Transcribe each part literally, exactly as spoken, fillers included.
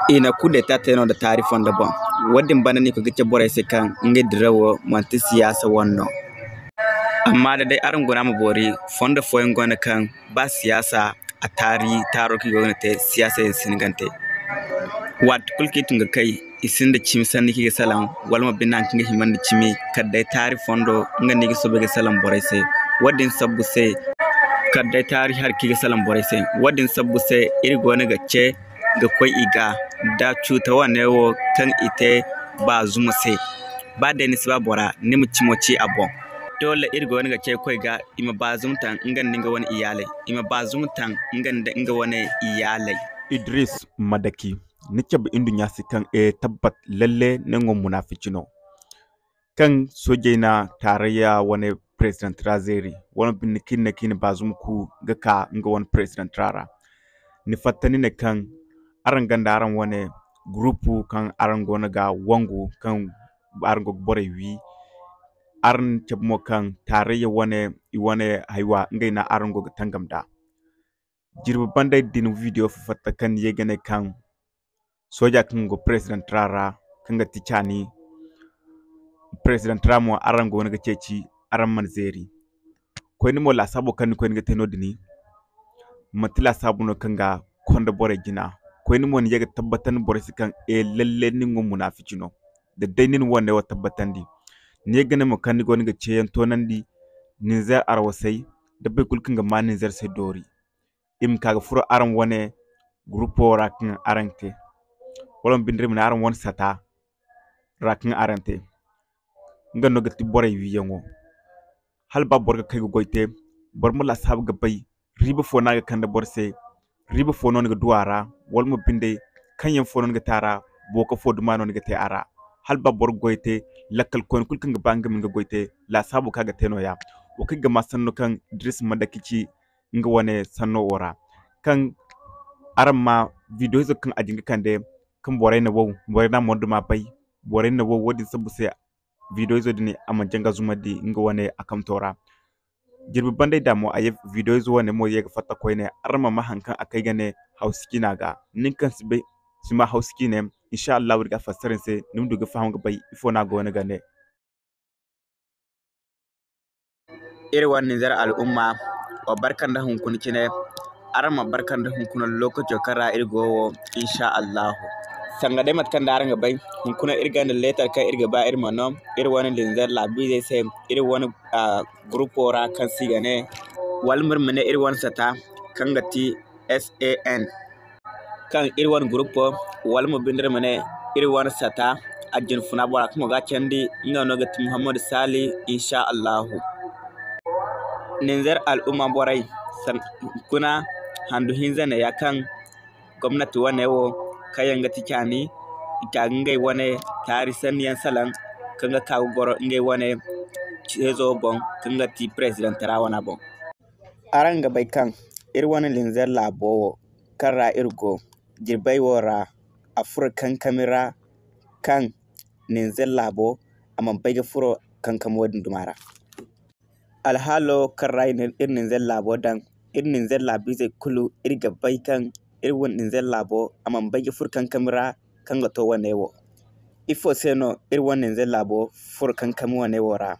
I na kudeta te no nda taari fondo boŋ. Wo-din banda no i ga cabe borey se kaŋ ngey dirawo manti siyaasa wane no. Amma da day araŋ guna ma boori, fondo fooyaŋ go no kaŋ ba siyaasa a taari taaro kaŋ i go ga te, siyaasa yaŋ si hin ga te. Waati kulu kaŋ i tun ga kay, i sinda cimi sanni kaŋ i ga salaŋ, wala mo binde haŋ kaŋ ga hima nda cimi, kala day taari fondo, nga no i ga soobay ga salaŋ borey se. Wo-din sabbu se, kala day taari hari kaŋ i ga salaŋ borey se. Wo-din sabbu se, iri goono ga ce, ga koy i ga, da cuuta wane wo kaŋ i te Baazum se. Ba day ni si ba bora, ni ma cimo ci a boŋ. Doole iri goono ga ce koy ga, i ma Baazum taŋ nga nda nga wane iyaaley. I ma Baazum taŋ nga nda nga wane iyaaley. Idris Madaki, ni cabe nduɲɲa se kaŋ, e, tabbat lalle nango munaafici no. Kaŋ soojey na taarayya wane president ra zeeri, wala binde kaŋ i ne kaŋ i na Baazum ku ga ka nga wane president ra ra. Ni fatta ni ne kaŋ araŋ gonda araŋ wane gurupu kaŋ araŋ goono ga wangu, kaŋ araŋ go ga borey wi. Araŋ cabe mo kaŋ taarayya wane, i wane haywa, ngey no araŋ go ga tangam nd'a. Jirbi banday din video fo fatta kaŋ ni ye ga ne kaŋ sooja kaŋ go president ra ra, kaŋ ga ti caani president ra mo, araŋ goono ga ceeci, araŋ mana zeeri. Koyne mo, laasaabo kaŋ ni koyne ga te no-din, manti laasaabo no kaŋ ga konda borey jina. Koyne mo, ni ye ga tabbatandi borey se kaŋ, e, lalle nin wo munaafici no. Da day nin wane wo tabbatandi, ni ye ga ne mo kaŋ ni goono ga ceeyaŋ toonandi Nizer arwasey, da boro kulu kaŋ ga maa Nizer se doori. I ma ka ga furo araŋ wane gurupo ra kaŋ araŋ te, wala ma binde iri ma ne araŋ wane sata ra kaŋ araŋ te. Nga no ga ti borey wiyaŋo. Hala ba boro ga kay ga goy te, boro ma laasaabu ga bay riiba fo no a ga kande boro se, riiba fo no ni ga du a ra, wala mo binde kaŋ yaŋ fo no ni ga te a ra, booka fo duma no ni ga te a ra. Hala ba boro ga goy te, lakkal koyne kulu kaŋ ga ba nga ma nga goy te, laasaabu kaŋ a ga te nooya. Wo kaŋ ga maa sanno kaŋ Idris Madaki ci nga wane sanno wo ra. Kaŋ araŋ ma video izo kaŋ a jin ga kande, kaŋ borey na wow, borey na monduma bay, borey na wow, wo-din sabbu se video izo din a mana janga zumandi nga wane a kamto ra. Jirbi banday da mo a ye video izo wane mo ye ga fatta koyne, araŋ ma maa haŋ kaŋ a kay ga ne Hawsa ciina ga. Nin kaŋ si bay, si maa Hawsa ciine, insha Allah iri ga a fassara ni se, ni ma du ga faham ga bay ifo no a goono ga ne. Iri wane Nizer al'umma, wa barka nda hunkuna cine, araŋ ma barka nda hunkuna lokaco kaŋ ra iri go wo, insha Allahu. Sanga day mate kaŋ day araŋ ga bay, hunkuna iri gonda leetar kaŋ iri ga ba iri ma no iri wane Nizer laabiizey se, iri wane, ah, gurupo ra kaŋ se i ga ne, wala mo iri ma ne iri wane sata kaŋ ga ti S A N. Kaŋ iri wane gurupo, wala mo binde iri ma ne iri wane sata, a jinfuna bora kaŋ go ga a candi, nga no ga ti Muhammadu Sali, insha Allahu. Nizer al'umma borey, san-, kuna handu hinza neeya kaŋ gomnati wane wo, kaŋ yaŋ ga ti caani, i ka ga ngey wane taari sanni yaŋ salaŋ, kaŋ ga ka ga goro ngey wane ceezo boŋ, kaŋ ga ti president ra wana boŋ. Araŋ ga bay kaŋ iri wane Nizer laabo wo, kaŋ ra iri go, jirbey wo ra, a furo kankami ra, kaŋ Nizer laabo, a mana bay ga furo kankami wo-din duma ra. Alhaalo kaŋ ra iri Nizer laabo daŋ, iri Nizer laabiizey kulu, iri ga bay kaŋ iri wane Nizer laabo, a mana bay ga furo kankami ra, kaŋ ga to wane wo. Ifo se no iri wane Nizer laabo furo kankami wane wo ra?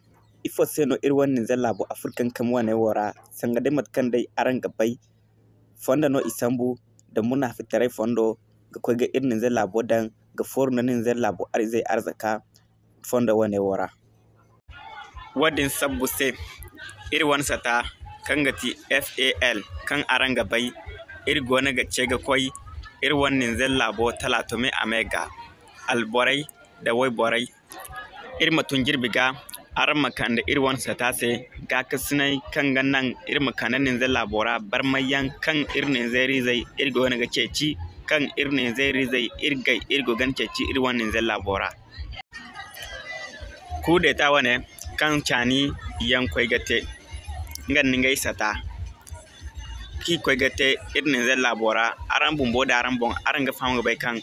Ifo se no iri wane Nizer laabo a furo kankami wane wo ra? Sanga day mate kaŋ day araŋ ga bay, fondo no i sambu nda munaafitaray fondo, ga koy ga iri Nizer laabo daŋ, ga fooru nda Nizer laabo ar-, izey arzaka fondo wane wo ra. Wo-din sabbu se, iri wane sata kaŋ ga ti F A L, kaŋ araŋ ga bay, iri goono ga ce ga koy iri wane Nizer laabo Talaatome a me ga. Alborey nda wayborey, iri ma tun jirbi ga, araŋ ma kande iri wane sata se gaakasinay kaŋ ga naŋ iri ma kande Nizer laabo ra barmayyaŋ kaŋ iri Nizerizey iri goono ga ceeci, kaŋ iri Nizerizey iri gay iri go ga ceeci iri wane Nizer laabo ra. Kudeta wane kaŋ caani yaŋ koy ga te, nga nda ngey sata, kaŋ i koy ga te iri Nizer laabo ra, araŋ bumbo da araŋ boŋ, araŋ ga faham ga bay kaŋ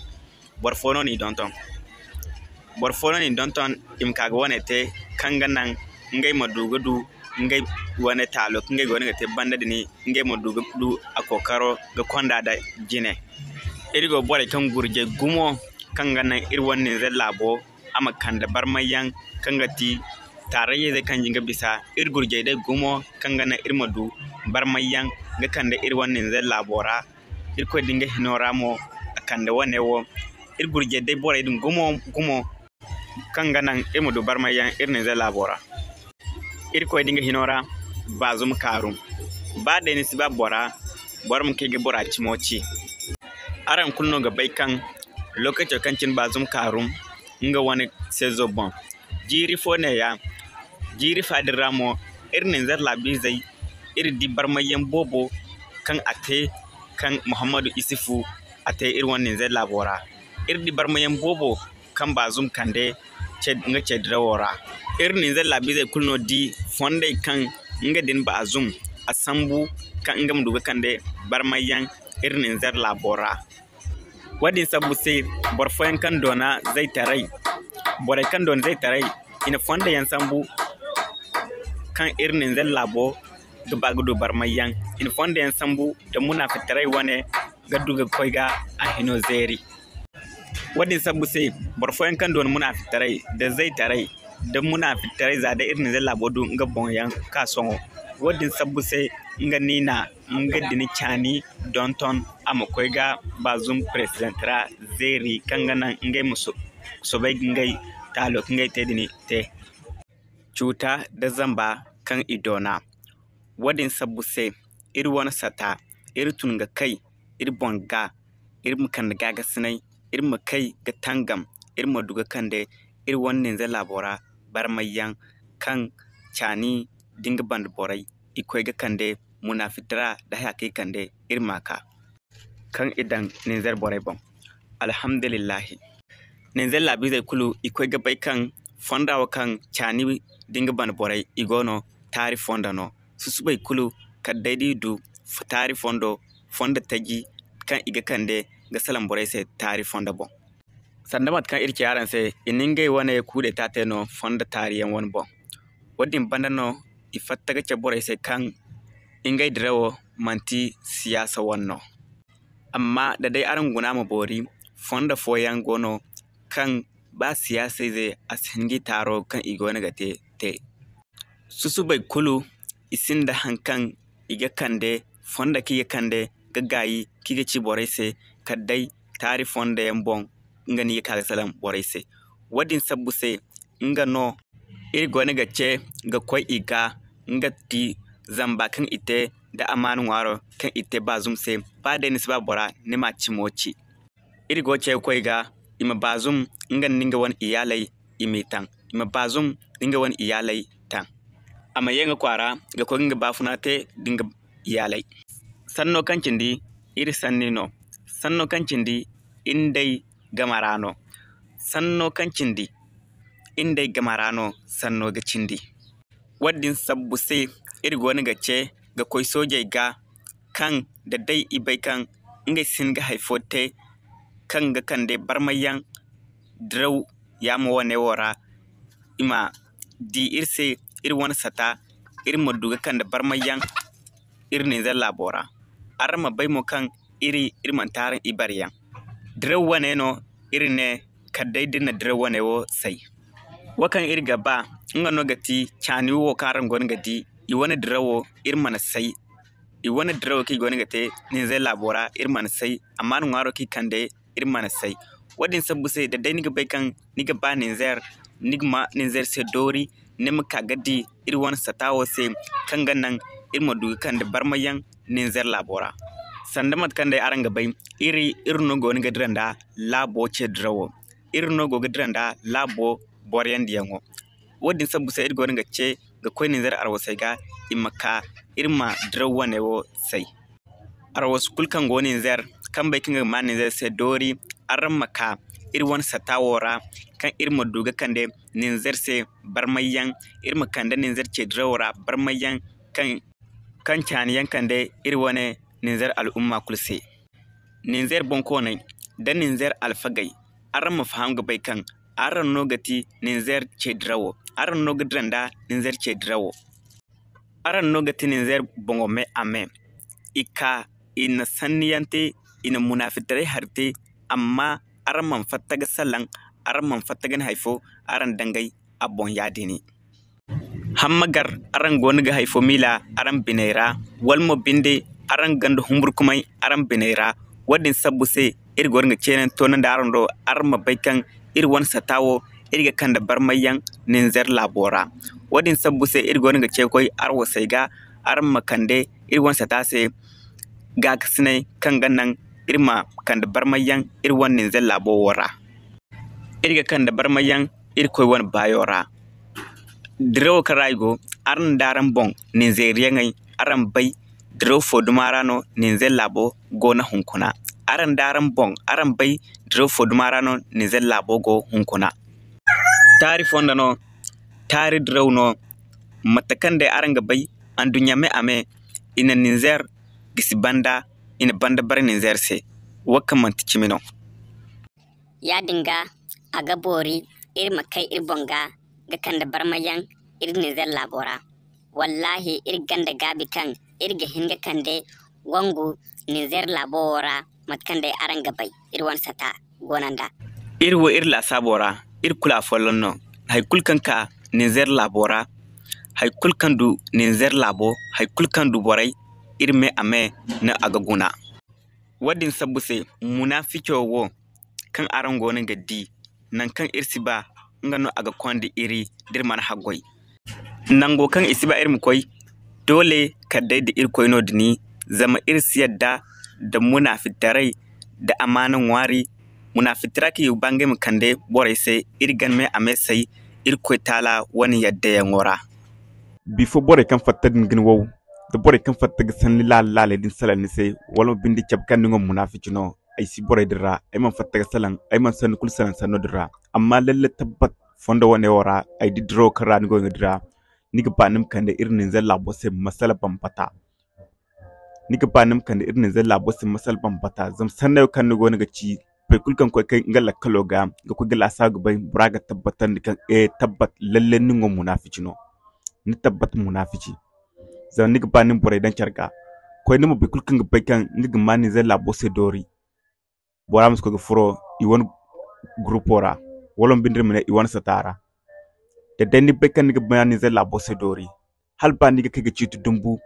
boro fo no n'i donton. Boro fo no n'i donton, i ma ka ga wane te, kaŋ ga naŋ ngey ma du ga du ngey wane taalo kaŋ ngey goono ga te banda din, ngey ma du ga du a kookaro ga konda nda jine. Iri go borey kaŋ gurjay gumo, kaŋ ga naŋ iri wane Nizer laabo a ma kande barmayyaŋ, kaŋ ga ti taarayzey kaŋ ga bisa iri gurjay day gumo, kaŋ ga naŋ iri ma du barmayyaŋ ga kande iri wane Nizer laabo ra. Irkoy din ga hino ra mo a kande wane wo. Iri gurjay day borey din gumo, gumo, kaŋ ga naŋ iri ma du barmayyaŋ iri Nizer laabo ra. Irkoy din ga hino ra, Baazum Kaarum. Ba day ni si ba bora, boro ma kay ga bora cimo ci. Araŋ kulu no ga bay kaŋ lokaco kaŋ cine Baazum Kaarum nga wane seezo boŋ. Jiiri fo neeya, jiiri fa din ra mo, iri Nizer laabiizey, iri di barmayyaŋ boobo kaŋ a te, kaŋ Muhammadu Isufu a te iri wane Nizer laabo ra. Iri di barmayyaŋ boobo kaŋ Baazum kande ce, nga ce dirawo ra. Iri Nizer laabiizey kulu no di fondey kaŋ nga din Baazum a sambu kaŋ nga ma du ga kande barmayyaŋ iri Nizer laabo ra. Wo-din sabbu se, boro fooyaŋ kaŋ doona zaytaray, borey kaŋ doona zaytaray, i na fonda yaŋ sambu kaŋ iri Nizer laabo ga ba ga du barmayyaŋ. I na fonda yaŋ sambu da munaafitaray wane ga du ga koy ga a hino zeeri. Wo-din sabbu se, boro fooyaŋ kaŋ doona munaafitaray da zaytaray, da munaafitaray za day iri Nizer laabo du nga boŋ yaŋ ka sohõ. Wo-din sabbu se, nga no i na nga din caani donton a ma koy ga Baazum peresidenti ra zeeri, kaŋ ga naŋ ngey ma so-, soobay ga ngey taalo kaŋ ngey te din te. Cuuta da zamba kaŋ i doona. Wo-din sabbu se, iri wane sata, iri tun ga kay iri boŋ ga, iri ma kande gaagasinay, iri ma kay ga tangam, iri ma du ga kande iri wane Nizer laabo ra barmayyaŋ kaŋ caani da nga banda borey i koy ga kande munaafitaray da haya kaŋ i kande iri ma ka, kaŋ i daŋ Nizer borey boŋ. Alhamdulillahi. Nizer laabiizey kulu, i koy ga bay kaŋ fonda wo kaŋ caani da nga banda borey i go no, taari fonda no. Susubay kulu, kala day da i du f-, taari fondo, fonda taji kaŋ i ga kande ga salaŋ borey se taari fonda boŋ. Sanda mate kaŋ iri ci araŋ se, i na ngey wane kuudeta te no fonda taariyaŋ wane boŋ. Wo-din banda no i fatta ga cabe borey se kaŋ ngey dirawo manti siyaasa wane no. Amma da day araŋ guna ma boori, fonda fooyaŋ go no kaŋ ba siyaasayze a si hin ga i taaro kaŋ i goono ga te, te. Susubay kulu, i sinda haŋ kaŋ i ga kande, fonda kaŋ i ga kande ga gaayi kaŋ i ga ci borey se, kala day taari fonda yaŋ boŋ, nga no i ga ka ga salaŋ borey se. Wo-din sabbu se, nga no iri goono ga ce ga koy i ga, nga ti zamba kaŋ i te nda amaana ŋwaaro kaŋ i te Baazum se. Ba day ni si ba bora, ni ma cimo ci. Iri go ga ce ga koy ga, i ma Baazum nga nda nga wane iyaaley, i m'i taŋ. I ma Baazum nda nga wane iyaaley taŋ. A ma ye nga kwaara ga koy ga nga baafuna te nda nga iyaaley. Sanno kaŋ cindi, iri sanni no. Sanno kaŋ cindi, iri nd'ey game ra no. Sanno kaŋ cindi, iri nd'ey game ra no sanno ga cindi. Wo-din sabbu se, iri goono ga ce ga koy soojey ga, kaŋ da day i bay kaŋ ngey si hin ga hay fo te, kaŋ ga kande barmayyaŋ diraw yaamo wane wo ra, i ma di iri se, iri wane sata, iri ma du ga kande barmayyaŋ iri Nizer laabo ra. Araŋ ma bay mo kaŋ iri, iri manti araŋ ibareyaŋ. Diraw wane no iri ne kala day da iri na diraw wane wo say. Wo kaŋ iri ga ba, nga no ga ti caani wo kaŋ araŋ goono ga di, i wane dirawo iri mana say. I wane dirawo kaŋ i goono ga te Nizer laabo ra, iri mana say, amma ni ŋwaaro kaŋ i kande, iri mana say. Wo-din sabbu se, da day ni ga bay kaŋ ni ga ba Nizer, ni ga ma Nizer se doori, ni ma ka ga di iri wane sata wo se, kaŋ ga naŋ iri ma du ga kande barmayyaŋ Nizer laabo ra. Sanda mate kaŋ day araŋ ga bay, iri, iri no goono ga dira nda laabo ce dirawo. Iri no go ga dira nda laabo boroyandiyaŋo. Wo-din sabbu se iri goono ga ce ga koy Nizer arwasey ga, i ma ka iri ma diraw wane wo say. Arwasu kulu kaŋ go Nizer, kaŋ bay kaŋ ga ma Nizer se doori, araŋ ma ka iri wane sata wo ra, kaŋ iri ma du ga kande Nizer se barmayyaŋ, iri ma kande Nizer ce dirawo ra barmayyaŋ, kaŋ, kaŋ caani yaŋ kande iri wane Nizer al'umma kulu se. Nizer bonkooney da Nizer alfagey, araŋ ma faham ga bay kaŋ araŋ no ga ti Nizer ce dirawo, araŋ no ga dira nda Nizer ce dirawo. Araŋ no ga ti Nizer boŋo me a me. I ka, i na sanniyaŋ te i na munaafitaray hari te, amma araŋ mana fatta ga salaŋ, araŋ mana fatta ga ni hari fo araŋ dangay a boŋ yaadin. Hamma gar, araŋ goono ga hari fo miila araŋ biney ra, wala mo binde araŋ gonda humburkumay araŋ biney ra. Wo-din sabbu se, iri goono ga ceeyaŋ toonandi araŋ do, araŋ ma bay kaŋ iri wane sata wo, iri ga kande barmayyaŋ Ninzeer laabo ra. Wo-din sabbu se, iri goono ga ce koy arwasey ga, araŋ ma kande iri wane sata se gaakasinay kaŋ ga naŋ iri ma kande barmayyaŋ iri wane Ninzeer laabo wo ra. Iri ga kande barmayyaŋ Irkoy wane baayo ra. Dirawo kaŋ ra i go, araŋ da araŋ boŋ Ninzeeriyaŋey, araŋ bay diraw fo duma ra no Ninzeer laabo go no hunkuna. Araŋ da araŋ boŋ, araŋ bay diraw fo duma ra no Ninzeer laabo go hunkuna. Taari fondo no, taari diraw no, mate kaŋ day araŋ ga bay, anduɲɲa me a me, i na Ninzeer gisi banda, i na banda bare Ninzeer se. Wo kaŋ manti cimi no. Yaadin ga, a ga boori iri ma kay iri boŋ ga, ga kande barmayaŋ iri Ninzeer laabo ra. Wallaahi, iri gonda gaabi kaŋ iri ga hin ga kande wangu Ninzeer laabo wo ra, mate kaŋ day araŋ ga bay, iri wane sata goono nd'a. Iri wo iri laasaabo ra, iri kulu afolloŋ no. Hay kulu kaŋ ka Ninzeer laabo ra, hay kulu kaŋ du Ninzeer laabo, hay kulu kaŋ du borey, iri me a me no a ga guna. Wo-din sabbu se, munaafico wo kaŋ araŋ goono ga di, nangu kaŋ iri si ba, nga no a ga konda iri, da iri mana haggoy. Nango kaŋ i si ba iri ma koy, doole kala day da Irkoy no din, zama iri si yadda da munaafitaray da amaana ŋwaari. Munaafitara kaŋ i ga ba ngey ma kande borey se, iri ga ni me a me say Irkoy Taala wane yaddayaŋo ra. Bifo borey kaŋ fatta din ga ni wow, da borey kaŋ fatta ga sanni laala-laaley din salaŋ ni se, wala ma binde cabe kaŋ ni ŋwa munaafici no, ay si borey din ra, ay mana fatta ga salaŋ, ay mana sanni kulu salaŋ sanno din ra. Amma lalle tabbat fondo wane wo ra, ay di dirawo kaŋ ra ni go ga dira, ni ga ba ni ma kande iri Ninzeer laabo se masala bambata. Ni ga ba ni ma kande iri Ninzeer laabo se masala bambata. Zama sannayo kaŋ ni goono ga ci, boro kulu kaŋ koy kay nga lakkalo ga, ga koy ga laasaabu ga bay, bora ga tabbatandi kaŋ, eh, tabbat, lalle ni ŋwa munaafici no. Ni tabbat munaafici. Zama ni ga ba ni ma borey daŋ care ga. Koy ni ma boro kulu kaŋ ga bay kaŋ nga ga ma Ninzeer laabo se doori. Bora ma si koy ga furo i wane gurupo ra, wala ma binde iri ma ne i wane sata ra. Da day ni bay kaŋ ni ga ma Ninzeer laabo se doori, hala ba ni ga kay ga ciiti dumbu,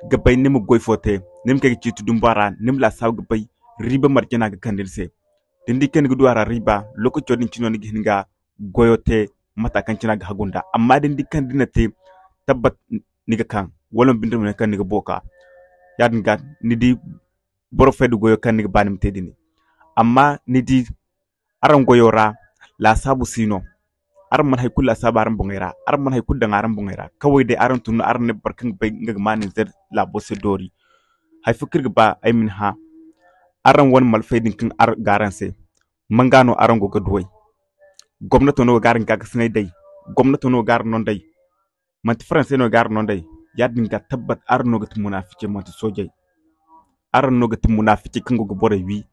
ga bay ni ma goy fo te, ni ma kay ga ciiti dumbu a ra, ni ma laasaabu ga bay riiba marje no a ga kande ni se. Da ni di kaŋ ni ga du a ra riiba, lookaco din cine no ni ga hin ga goyo te mate kaŋ cine a ga hagu nd'a. Amma da ni di kaŋ da ni na te, tabbat ni ga kaŋ, wala ma binde iri ma ne kaŋ ni ga booka. Yaadin ga ni di boro fay da goyo kaŋ ni ga ba ni ma te din. Amma ni di, araŋ goyo ra, laasaabu si no. Araŋ mana hay kulu laasaabu araŋ boŋey ra, araŋ mana hay kulu daŋ araŋ boŋey ra. Kaway day araŋ tun no araŋ ne boro kaŋ ga bay nga ga ma Ninzeer laabo se doori. Hay fo kaŋ iri ga ba ay ma ni hã, araŋ wane malfey din kaŋ araŋ ga araŋ se, manga no araŋ go ga duw'ey? Gomnato no ga araŋ gaakasinay day? Gomnato no ga araŋ no day? Manti Faransey no ga araŋ no day? Yaadin ga tabbat araŋ no ga ti munaaficey, manti soojey. Araŋ no ga ti munaaficey kaŋ go ga borey wi.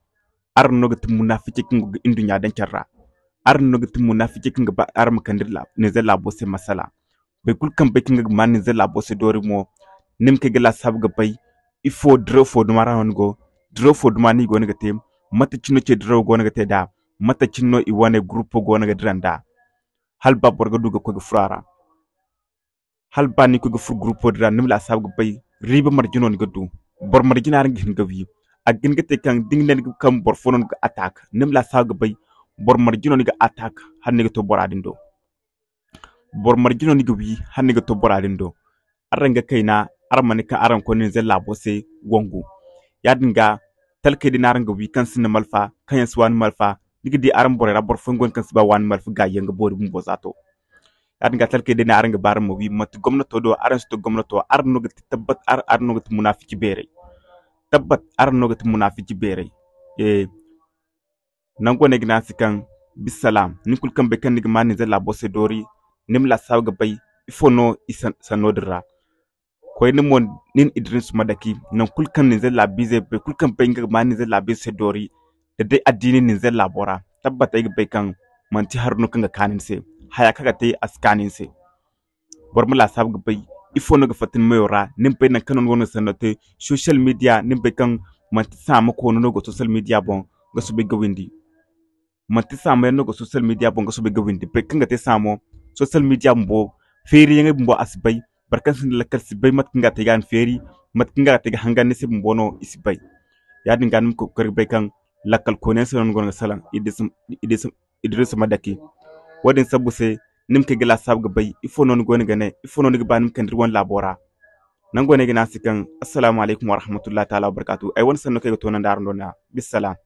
Araŋ no ga ti munaaficey kaŋ go ga nduɲɲa daŋ care ra. Araŋ no ga ti munaaficey kaŋ ga ba araŋ ma kande Ninzeer laabo se masala. Boro kulu kaŋ bay kaŋ nga ga ma Ninzeer laabo se doori mo, ni ma kay ga laasaabu ga bay ifo diraw fo duma ra no ni go, diraw fo duma no i goono ga te, mate cine no ce dirawo goono ga te nd'a, mate cine no i wane gurupo goono ga dira nd'a. Hala ba boro ga du ga koy ga furo a ra. Hala ba ni koy ga furo gurupo din ra, ni ma laasaabu ga bay riiba marje no ni ga du. Boro marje no araŋ ga hin ga wi. A ga hin ga te kaŋ da ni ga ne ni ga kaŋ boro fo no ni ga attaque, ni ma laasaabu ga bay boro marje no ni ga attaque hala ni ga to bora din do. Boro marje no ni ga wi hala ni ga to bora din do. Araŋ ga kayna, araŋ ma ne kaŋ araŋ ga koy Ninzeer laabo se wangu. Yaadin ga, talkey din araŋ ga wi kaŋ sinda malfa, kaŋ yaŋ si waani malfa, ni ga di araŋ borey ra boro fooyaŋ go no kaŋ si ba waani malfa gaayi yaŋ ga boori bumbo za to. Yaadin ga talkey day ne araŋ ga ba araŋ ma wi, manti gomnato do, araŋ si to gomnato, araŋ no ga ti tabbat, ar-, araŋ no ga ti munaafici beerey. Tabbat, araŋ no ga ti munaafici beerey. Eh, nangu wane ga ne a se kaŋ, bisalaam, nin kulu kaŋ bay kaŋ ni ga ma Ninzeer laabo se doori, ni ma laasaabu ga bay ifo no i san-, sanno din ra. Koyne mo, nin Idris Madaki, nangu kulu kaŋ Ninzeer laabiizey, boro kulu kaŋ bay nga ga ma Ninzeer laabiizey se doori, da day addiini Ninzeer laabo ra, tabbat ay ga bay kaŋ manti hari no kaŋ ga kaanu ni se. Haya kaŋ ga te, a si kaanu ni se. Boro ma laasaabu ga bay ifo no ga fatta ni meyo ra, ni ma bay nangu kaŋ no ni go no ga sanno te, social media, ni ma bay kaŋ Manti saama koono no go social media boŋ ga soobay ga windi. Manti saama yaŋ no go social media boŋ ga soobay ga windi. Boro kaŋ ga te saamo, social media bumbo feeriyaŋey bumbo a si bay. Boro kaŋ sinda lakkal si bay mate kaŋ ga te ga ni feeri, mate kaŋ ga te ga hangan ni se bumbo no i si bay. Yaadin ga ni ma koy ga bay kaŋ lakkal koyne yaŋ se no ni goono ga salaŋ. Idrisa ma dake. Wo-din sabbu se ni ma kay ga laasaabu ga bay ifo no ni goono ga ne, ifo no ni ga ba ni ma kande iri wane laabo ra. Nango ne ay ga ne a se kaŋ, Assalamu alaykum warahmatullahi taala wabarkaatu. Ay wane sanno kaŋ ay ga toonandi araŋ do ne-ya. Bissalam.